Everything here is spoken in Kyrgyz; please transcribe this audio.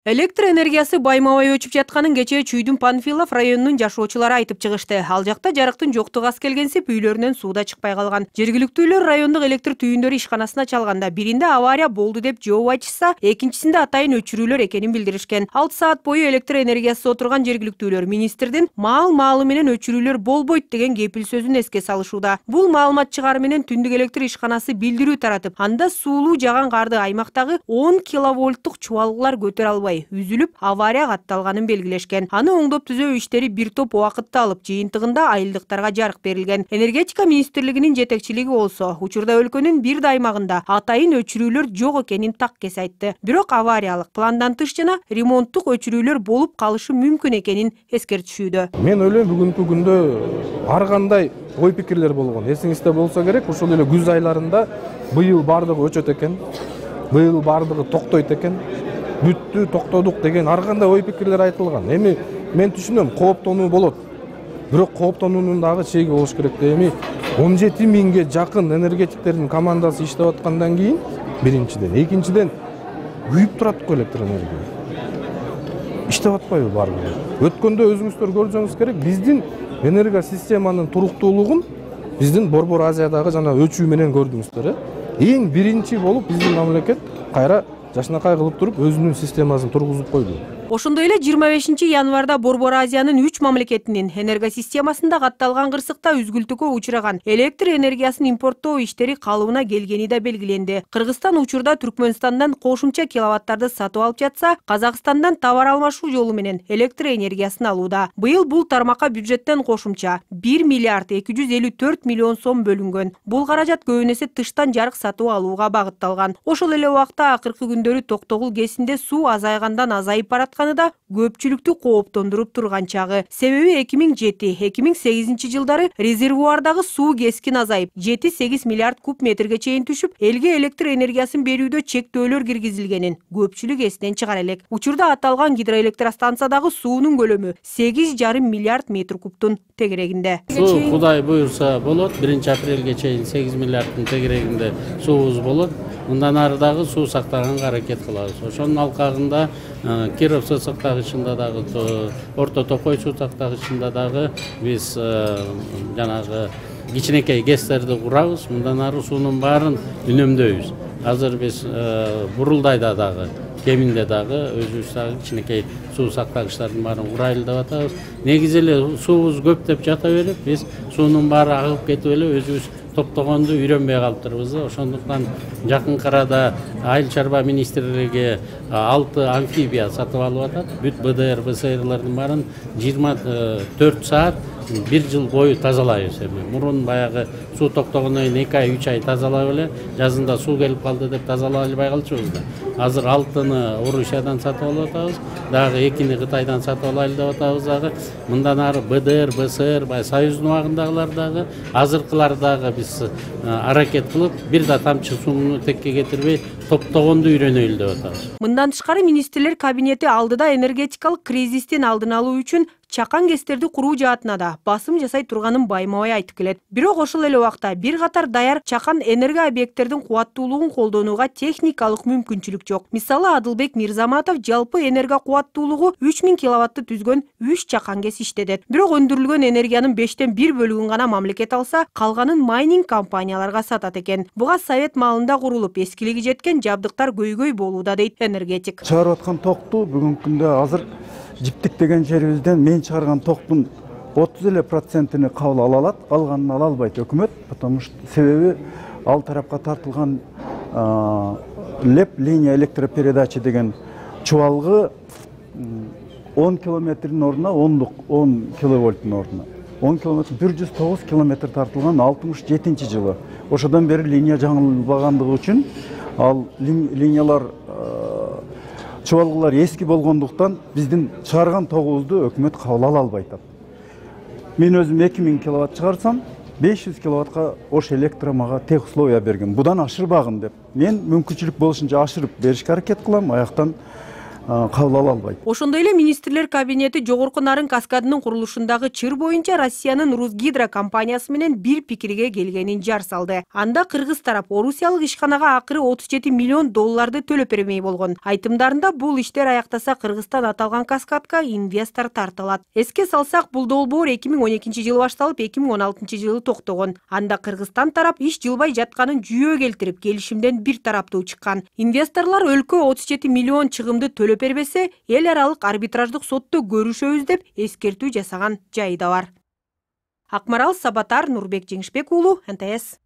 Электр энергиясы байма-бай өчүп жатканын кечээ Чүйдүн Панфилов районунун жашоочулары айтып чыгышты. Ал жакта жарыктын жоктугу аз келгенсип үйлөрүнөн суу да чыкпай калган. Жергиликтүүлөр райондук электр түйүндөрү ишканасына чалганда биринде авария болду деп жооп айтышса, экинчисинде атайын өчүрүүлөр экенин билдиришкен. 6 саат бою электр энергиясыз отурган жергиликтүүлөр министрдин маал-маалы менен өчүрүүлөр болбойт деген кепил сөзүн эске салышууда. Бул маалымат чыгары менен түндүк электр ишканасы билдирүү таратып, анда суулуу жаган карды аймактагы 10 киловольттук чубалгылар көтөрө албай үзүлүп, авария катталганын белгилешкен. Аны оңдоп түзөө иштери бир топ убакытты алып, жыйынтыгында айылдыктарга жарык берилген. Энергетика министрлигинин жетекчилиги болсо, учурда өлкөнүн бир да аймагында атайын өчүрүүлөр жок экенин таккес айтты. Бирок авариялык, пландан тыш жана ремонттук өчүрүүлөр болуп калышы мүмкүн экенин эскертишүүдө. Мен ойлойм, бүгүнкү күндө ар кандай ой пикирлер болгон. Эсиңизде болсо керек, ушул эле күз айларында быйыл бардыгы өчөт экен, быйыл бардыгы токтойт экен. Бүттү, токтодук деген ар кандай ой пикирлер айтылган. Эми мен түшүнөм, кооптонуу болот. Бирок кооптонуунун дагы чеги болуш керек. Эми 17 000ге жакын энергетиктердин командасы иштеп аткандан кийин, биринчиден, экинчиден күйүп турат го электр энергия. Иштеп атпайбы баары? Өткөндө өзүңүздөр көрсөңүз керек, биздин энергия системанын туруктуулугун биздин Борбор Азиядагы жана өчүү менен көрдүңүздөр. Эң биринчи болуп биздин мамлекет кайра жашынакай кылып туруп өзүнүн системасын тургузуп койду. Ошондой эле 25 январда Борбор Азиянын 3 мамлекетинин энергосистемасында катталган кырсыкта үзгүлтүүгө учураган электр энергиясын импорттоо иштери калыбына келгени да белгиленди. Кыргызстан учурда Түркмөнстандан кошумча киловаттарды сатып алып жатса, Казакстандан товар алмашуу жолу менен электр энергиясын алууда. Быйыл бул тармакка бюджеттен кошумча 1 миллиард 254 миллион сом бөлүнгөн. Бул каражат көбүн эсе тыштан жарык сатып алууга багытталган. Ошол эле убакта акыркы күндөрү Токтогул КЭСинде суу азайгандан азайып баратканы да көпчүлүктү кооптондуруп турган чагы. Себеби 2007-2008 жылдары резервуардагы суу кескин азайып, 7-8 миллиард куб метрге чейин түшүп, элге электр энергиясын берүүдө чектөөлөр киргизилгенин көпчүлүк эстен чыгара элек. Учурда аталган гидроэлектростанциядагы суунун көлөмү 8,5 миллиард метр кубтун тегерегинде. Суу Кудай буйрса болот, 1-апрелге чейин 8 миллиарддын тегерегинде суубуз болот. Мындан ары дагы суу сактаганга аракет кылабыз. Ошонун алкагында Киров суу сактагычында дагы, Орто Токой суу сактагычында дагы биз жанагы кичинекей ГЭСтерди курабыз. Мындан ары суунун баарын үнөмдөйбүз. Азыр биз Бурулдайда дагы, Кеминде дагы өзүбүз дагы кичинекей суу сактагычтардын баарын курайлы деп атабыз. Негизи эле суубуз көп деп жата берип, биз суунун баары агып кетип эле өзүбүз топтогонду үйрөнбөй калыптырбыз. Ошондуктан жакынкы арада Айыл чарба министрлиги 6 амфибия сатып алып атат. Бүт БДР, БСРлардын баарын 24 саат 1 жыл бою тазалайбыз. Мурун баягы суу токтогондон кийин 2 ай, 3 ай тазалап эле, жазында суу келип калды деп тазалай албай калчубуз да. Азыр 6-ны Орусиядан сатып алып атабыз, дагы 2-ни Кытайдан сатып алайлы деп атабыз дагы. Мындан ары БДР, БСР, Союздун убагындагылар дагы, азыркылар дагы биз аракет кылып, бир да тамчы сууну текке кетирбей, топтогонду үйрөнөйлү деп атабыз. Мындан тышкары министрлер кабинети алдыда энергетикалык кризистин алдын алуу үчүн чакан КЭСтерди куруу жаатына да басым жасай турганын байма-бай айтып келет. Бирок ошол эле убакта бир катар даяр чакан энергия объекттердин кубаттуулугун колдонууга техникалык мүмкүнчүлүк жок. Мисалы, Адылбек Мирзаматов жалпы энергия кубаттуулугу 3000 киловаттты түзгөн 3 чакан КЭС иштетет. Бирок өндүрүлгөн энергиянын 5тен 1 бөлүгүн гана мамлекет алса, калганын майнинг компанияларга сатат экен. Буга совет маалында курулуп, эскилиги жеткен жабдыктар көйгөй болууда дейт энергетик. Чыгарып аткан токту бүгүнкү күндө азыр Жиптик деген жерибизден мен чыгарган токтун 30% кабыл ала алат, алганын ала албайт өкмөт, потому что себеби ал тарапка тартылган ЛЭП, линия электропередачи деген чубалгы 10 километрдин ордуна 10 киловольттун ордуна 10 километр 109 километр тартылган 67 жылы. Ошодон бери линия жаңылбагандыгы үчүн ал линиялар чубалгылар эски болгондуктан биздин чыгарган тогубузду өкмөт кабыл ала албай атат. Мен өзүм 2000 киловатт чыгарсам, 500 киловаттка ош электро мага тех условия берген. Будан ашырбагын деп. Мен мүмкүнчүлүк болушунча ашырып беришке аракет кылам. Аяктан кабыл ала албайт. Ошондой эле министрлер кабинети Жогорку Нарын каскадынын курулушундагы чыр боюнча Россиянын Русгидро компаниясы менен бир пикирге келгенин жар салды. Анда кыргыз тарап орусиялык ишканага акыры 37 миллион долларды төлөп бермей болгон. Айтымдарында бул иштер аяктаса Кыргызстан аталган каскадка инвестор тартылат. Эске салсак, бул долбоор 2012-жылы башталып 2016-жылы токтогон. Анда Кыргызстан тарап иш жылбай жатканын жүйө келтирип, келишимден бир тараптуу чыккан. Инвесторлор өлкө 37 миллион чыгымды төлөп бербесе, эл аралык арбитраждык сотто көрүшөбүз деп эскертүү жасаган жайы да бар. Акмарал Сабатар, Нурбек Жеңишбек уулу, НТС.